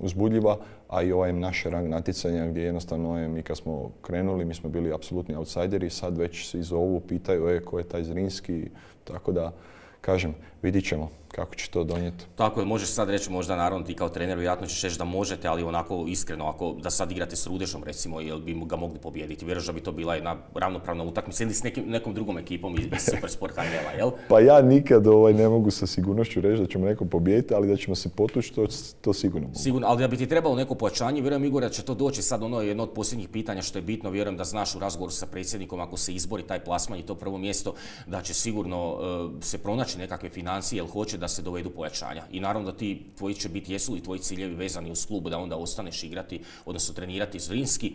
uzbudljiva, a i naše rang natjecanja gdje jednostavno mi kad smo krenuli, mi smo bili apsolutni outsideri, sad već se zovu, pitaju ko je taj Zrinski, tako da kažem, vidit ćemo kako će to donijeti. Tako je, možeš sad reći možda naravno ti kao trener vjerojatno ćeš reći da možete, ali onako iskreno, ako da sad igrate s Rudešom recimo, jel bi ga mogli pobijediti? Vjerujem da bi to bila jedna ravnopravna utakmica ili s nekom drugom ekipom iz Supersport HNL-a, jel? Pa ja nikad ne mogu sa sigurnošću reći da ćemo nekom pobijediti, ali da ćemo se potući, to sigurno mogu. Sigurno, ali da bi ti trebalo neko pojačanje, vjerujem Igor da će to doći sad jedno od posljednjih pitanja što je bitno, vjerujem da znaš u razgovoru sa predsjednikom ako se izbori taj plasman i to prvo mjesto, da će sigurno se pronaći nekakve financije, jel hoće da se dovedu pojačanja. I naravno da tvoji će biti, jesu li tvoji ciljevi vezani uz klub da onda ostaneš igrati, odnosno trenirati Zrinski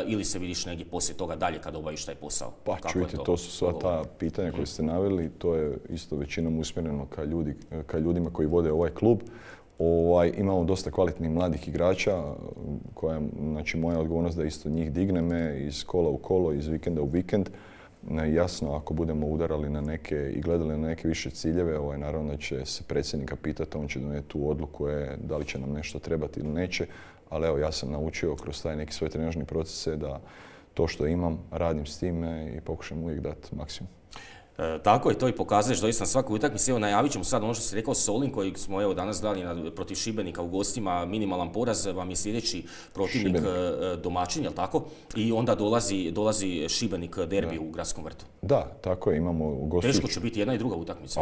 ili se vidiš negdje poslije toga dalje kad obaviš taj posao? Pa čujte, to su sva ta pitanja koje ste naveli, to je isto većinom usmjereno ka ljudima koji vode ovaj klub. Imamo dosta kvalitetnih mladih igrača, koja znači moja odgovornost da isto njih digneme iz kola u kolo, iz vikenda u vikend. Jasno, ako budemo udarali na neke i gledali na neke više ciljeve, naravno da će se predsjednika pitati, on će donijeti tu odluku da li će nam nešto trebati ili neće. Ali evo, ja sam naučio kroz taj neki svoj trenažni procese da to što imam, radim s time i pokušam uvijek dati maksimum. Tako je, to i pokazuješ doista na svakoj utakmici. Evo, najavit ćemo sad ono što si rekao, Solin koji smo danas gledali protiv Šibenika u gostima, minimalan poraz, vam je sljedeći protivnik domaćin, jel tako? I onda dolazi Šibenik derbi u Gradskom vrtu. Da, tako je, imamo u gostu. Teško će biti jedna i druga utakmica.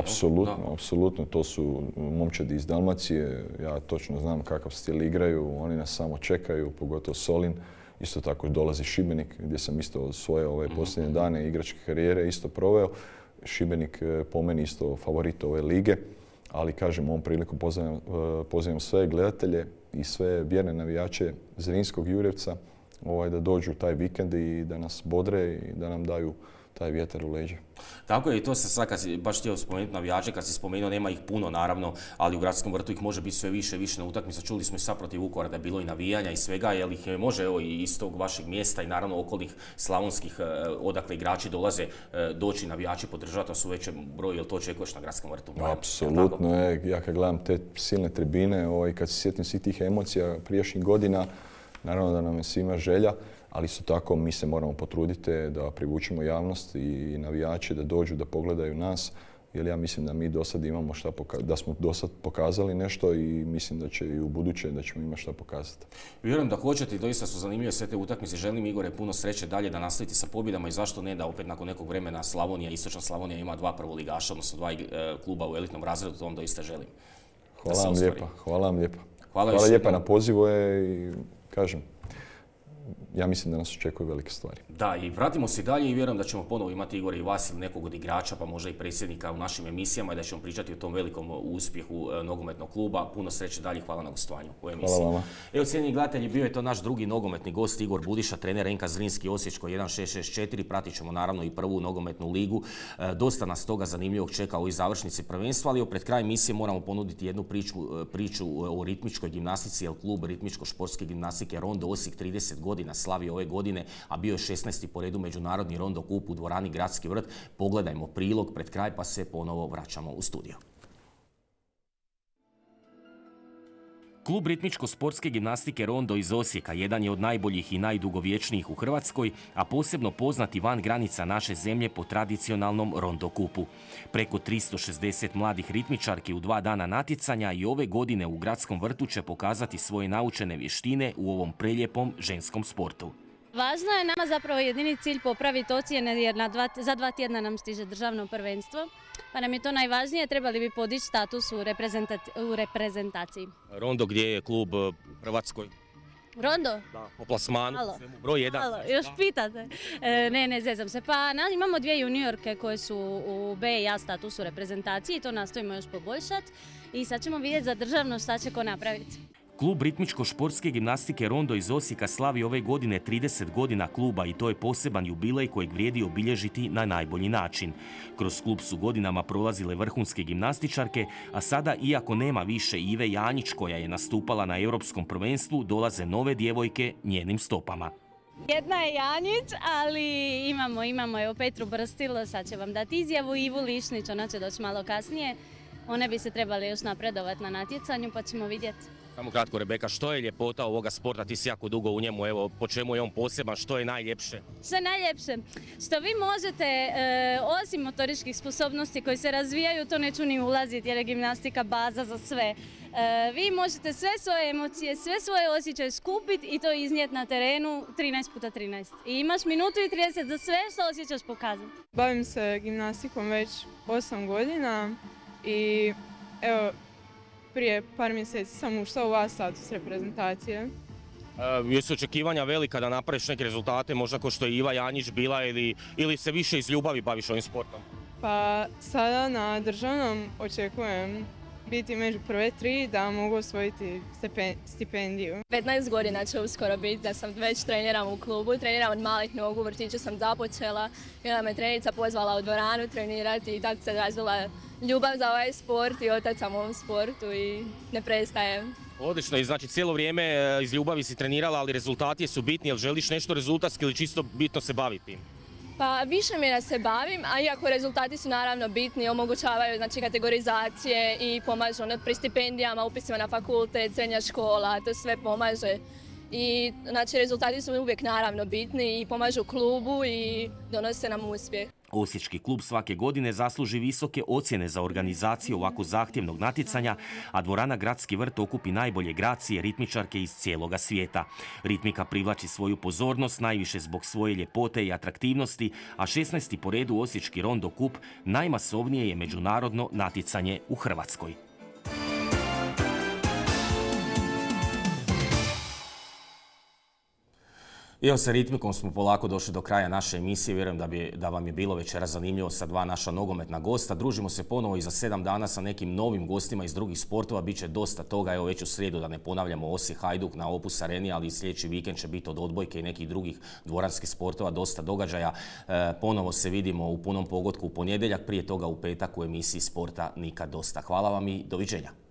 Apsolutno, to su momčadi iz Dalmacije, ja točno znam kakav stil igraju, oni nas samo čekaju, pogotovo Solin. Isto tako dolazi Šibenik gdje sam isto svoje posljednje dane igračke karijere isto proveo. Šibenik po meni isto favorit ove lige, ali kažem ovom priliku pozivam sve gledatelje i sve vjerne navijače Zrinskog Jurjevca da dođu taj vikend i da nas bodre i da nam daju taj vjetar u leđa. Tako je, i to se sad kad si baš htio spomenuti navijače, kad si spomenuo nema ih puno naravno, ali u Gradskom vrtu ih može biti sve više na utakmica. Čuli smo i sad protiv Vukovara da je bilo i navijanja i svega, jer ih može i iz tog vašeg mjesta i naravno okolnih slavonskih odakle igrači dolaze doći navijači podržati, to su veće broj, jel to očekuješ na Gradskom vrtu? Apsolutno, ja kad gledam te silne tribine i kad se sjetim svih tih emocija prijašnjih godina, naravno da nam je svima želja, ali isto tako mi se moramo potruditi da privučemo javnost i navijače da dođu da pogledaju nas, jer ja mislim da mi do sad imamo da smo do sad pokazali nešto i mislim da će i u buduće da ćemo imati šta pokazati. Vjerujem da hoćete i doista su zanimljive sve te utakmice. Želim Igore puno sreće dalje da nastavite sa pobjedama i zašto ne da opet nakon nekog vremena Slavonija, Istočna Slavonija ima 2 prvoligaša, odnosno 2 kluba u elitnom razredu, to vam doista želim. Hvala vam lijepa. Hvala lijepa na pozivu i kažem, ja mislim da nas očekuju velike stvari. Da, i vratimo se dalje i vjerujem da ćemo ponovo imati Igor i vas ili nekog od igrača, pa možda i predsjednika u našim emisijama i da ćemo pričati o tom velikom uspjehu nogometnog kluba. Puno sreće dalje, hvala na gostovanju u emisiji. Hvala vama. Evo, cijenjeni gledatelji, bio je to naš drugi nogometni gost Igor Budiša, trener NK Zrinski Osječko 1664. Pratit ćemo naravno i prvu nogometnu ligu. Dosta nas toga zanimljivog čeka u završnici prvenstva, ali pred kraj emisije moramo ponuditi jednu priču o ritmičkoj gimnastici, jer klub ritmičko-športske gimnastike Rondo Osijek 30 godina slavi ove godine, a bio je 16. po redu međunarodni Rondo Kup u dvorani Gradski vrt. Pogledajmo prilog pred kraj pa se ponovo vraćamo u studio. Klub ritmičko-sportske gimnastike Rondo iz Osijeka jedan je od najboljih i najdugovječnijih u Hrvatskoj, a posebno poznati van granica naše zemlje po tradicionalnom Rondo Kupu. Preko 360 mladih ritmičarki u 2 dana natjecanja i ove godine u Gradskom vrtu će pokazati svoje naučene vještine u ovom preljepom ženskom sportu. Važno je nama zapravo jedini cilj popraviti ocjene jer za 2 tjedna nam stiže državno prvenstvo. Pa nam je to najvažnije, trebali bi podići status u reprezentaciji. Rondo gdje je klub u Hrvatskoj? Rondo? Da, po plasmanu, broj 1. Halo, još pitate? Ne, zezam se. Pa imamo 2 juniorke koje su u B i A statusu reprezentaciji, to nastojimo još poboljšati i sad ćemo vidjeti za državno šta će ko napraviti. Klub ritmičko-športske gimnastike Rondo iz Osijeka slavi ove godine 30 godina kluba i to je poseban jubilej kojeg vrijedi obilježiti na najbolji način. Kroz klub su godinama prolazile vrhunske gimnastičarke, a sada, iako nema više Ive Janjić koja je nastupala na europskom prvenstvu, dolaze nove djevojke njenim stopama. Jedna je Janjić, ali imamo evo Petru Brstilo, sad će vam dati izjavu, Ivu Lišnić, ona će doći malo kasnije. One bi se trebali još napredovati na natjecanju, pa ćemo vidjeti. Samo kratko, Rebeka, što je ljepota ovoga sporta? Ti si jako dugo u njemu, evo, po čemu je on poseban, što je najljepše? Što je najljepše? Što vi možete, osim motoričkih sposobnosti koji se razvijaju, to neću ni ulaziti jer je gimnastika baza za sve. Vi možete sve svoje emocije, sve svoje osjećaje skupiti i to iznijeti na terenu 13x13. I imaš minutu i 30 za sve što osjećaš pokazati. Bavim se gimnastikom već 8 godina i evo, prije par mjeseci sam ušla u A status reprezentacije. Jesu očekivanja velika da napraviš neke rezultate, možda kao što je Iva Janjić bila ili se više iz ljubavi baviš ovim sportom? Pa sada na državnom očekujem biti među prve 3 da mogu osvojiti stipendiju. 15 godina će uskoro biti da sam već treniram u klubu, treniram od malih nogu, u vrtiću sam započela i onda me trenica pozvala u dvoranu trenirati i tako se razvila ljubav za ovaj sport i otac sam u ovom sportu i ne prestajem. Odlično, i znači cijelo vrijeme iz ljubavi si trenirala, ali rezultati su bitni, jel želiš nešto rezultatski ili čisto bitno se baviti? Pa više mi je da se bavim, a iako rezultati su naravno bitni, omogućavaju znači, kategorizacije i pomažu pri stipendijama, upisima na fakultet, srednja škola, to sve pomaže. I znači, rezultati su uvijek naravno bitni i pomažu klubu i donose nam uspjeh. Osječki klub svake godine zasluži visoke ocjene za organizaciju ovako zahtjevnog natjecanja, a dvorana Gradski vrt okupi najbolje gracije ritmičarke iz cijeloga svijeta. Ritmika privlači svoju pozornost najviše zbog svoje ljepote i atraktivnosti, a 16. po redu Osječki Rondo Kup najmasovnije je međunarodno natjecanje u Hrvatskoj. I evo sa ritmikom smo polako došli do kraja naše emisije. Vjerujem da vam je bilo večeras zanimljivo sa 2 naša nogometna gosta. Družimo se ponovo i za 7 dana sa nekim novim gostima iz drugih sportova. Biće dosta toga. Evo već u srijedu, da ne ponavljamo, Osijek Hajduk na Opus Areni, ali i sljedeći vikend će biti od odbojke i nekih drugih dvoranskih sportova. Dosta događaja. Ponovo se vidimo u punom pogotku u ponedjeljak, prije toga u petak u emisiji Sporta nikad dosta. Hvala vam i doviđenja.